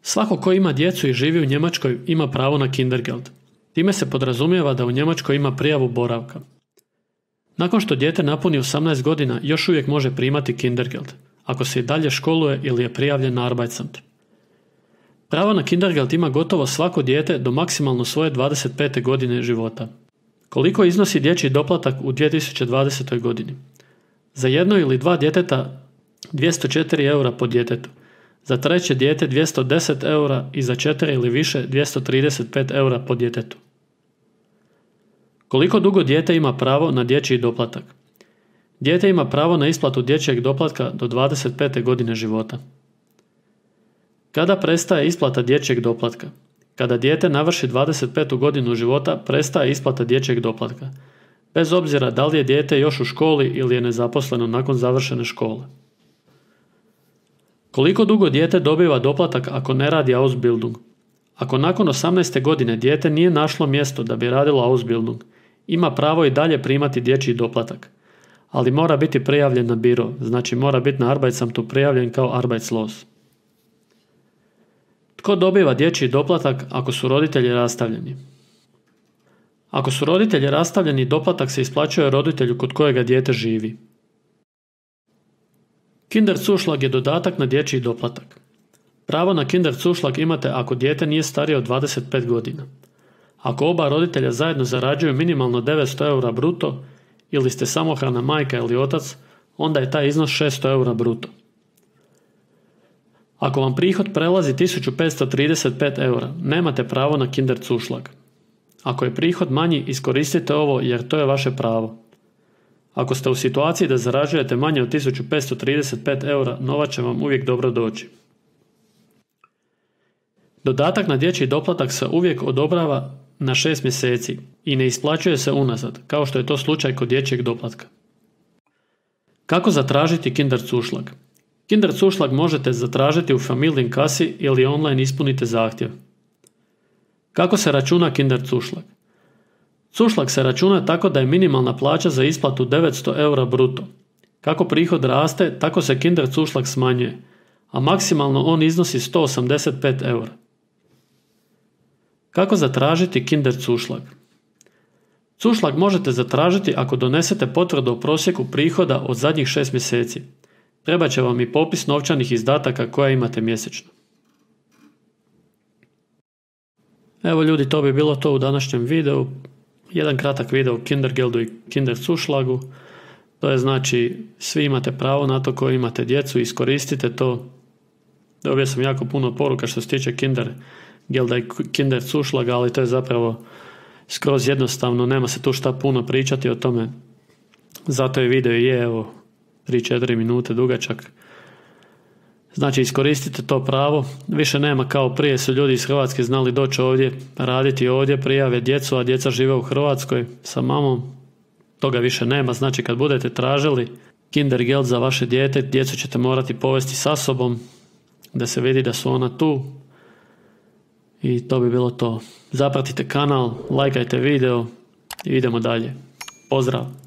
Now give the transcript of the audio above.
Svako ko ima djecu i živi u Njemačkoj ima pravo na Kindergeld. Time se podrazumijeva da u Njemačkoj ima prijavu boravka. Nakon što dijete napuni 18 godina još uvijek može primati Kindergeld, ako se i dalje školuje ili je prijavljen na Arbeitsamt. Pravo na Kindergeld ima gotovo svako dijete do maksimalno svoje 25. godine života. Koliko iznosi dječji doplatak u 2020. godini? Za jedno ili dva djeteta 204 eura po djetetu, za treće dijete 210 eura i za 4 ili više 235 eura po djetetu. Koliko dugo dijete ima pravo na dječji doplatak? Dijete ima pravo na isplatu dječjeg doplatka do 25. godine života. Kada prestaje isplata dječjeg doplatka? Kada dijete navrši 25. godinu života, prestaje isplata dječjeg doplatka, bez obzira da li je dijete još u školi ili je nezaposleno nakon završene škole. Koliko dugo dijete dobiva doplatak ako ne radi Ausbildung? Ako nakon 18. godine dijete nije našlo mjesto da bi radilo Ausbildung, ima pravo i dalje primati dječji doplatak, ali mora biti prijavljen na biro, znači mora biti na Arbeitsamtu prijavljen kao Arbeitslos. Tko dobiva dječji doplatak ako su roditelji rastavljeni? Ako su roditelji rastavljeni, doplatak se isplaćuje roditelju kod kojega dijete živi. Kinderzuschlag je dodatak na dječji doplatak. Pravo na Kinderzuschlag imate ako dijete nije starije od 25 godina. Ako oba roditelja zajedno zarađuju minimalno 900 eura bruto ili ste samohrana majka ili otac, onda je taj iznos 600 eura bruto. Ako vam prihod prelazi 1535 eura, nemate pravo na Kinderzuschlag. Ako je prihod manji, iskoristite ovo jer to je vaše pravo. Ako ste u situaciji da zarađujete manje od 1535 eura, novac će vam uvijek dobro doći. Dodatak na dječji doplatak se uvijek odobrava na 6 mjeseci i ne isplaćuje se unazad, kao što je to slučaj kod dječjeg doplatka. Kako zatražiti Kinderzuschlag? Kinderzuschlag možete zatražiti u Familienkassi ili online ispunite zahtjev. Kako se računa Kinderzuschlag? Zuschlag se računa tako da je minimalna plaća za isplatu 900 eura bruto. Kako prihod raste, tako se Kinderzuschlag smanjuje, a maksimalno on iznosi 185 eura. Kako zatražiti Kinderzuschlag? Zuschlag možete zatražiti ako donesete potvrdu o prosjeku prihoda od zadnjih 6 mjeseci. Trebat će vam i popis novčanih izdataka koje imate mjesečno. Evo ljudi, to bi bilo to u današnjem videu. Jedan kratak video o Kindergeldu i Kinderzuschlagu. To je znači, svi imate pravo na to koji imate djecu, iskoristite to. Dobio sam jako puno poruka što se tiče Kindergelda i Kinderzuschlaga, ali to je zapravo skroz jednostavno, nema se tu šta puno pričati o tome. Zato je video je evo 3-4 minute dugačak. Znači iskoristite to pravo, više nema kao prije su ljudi iz Hrvatske znali doći ovdje, raditi ovdje, prijave djecu, a djeca žive u Hrvatskoj sa mamom. Toga više nema, znači kad budete tražili Kindergeld za vaše dijete, djecu ćete morati povesti sa sobom, da se vidi da su ona tu. I to bi bilo to. Zapratite kanal, lajkajte video i idemo dalje. Pozdrav!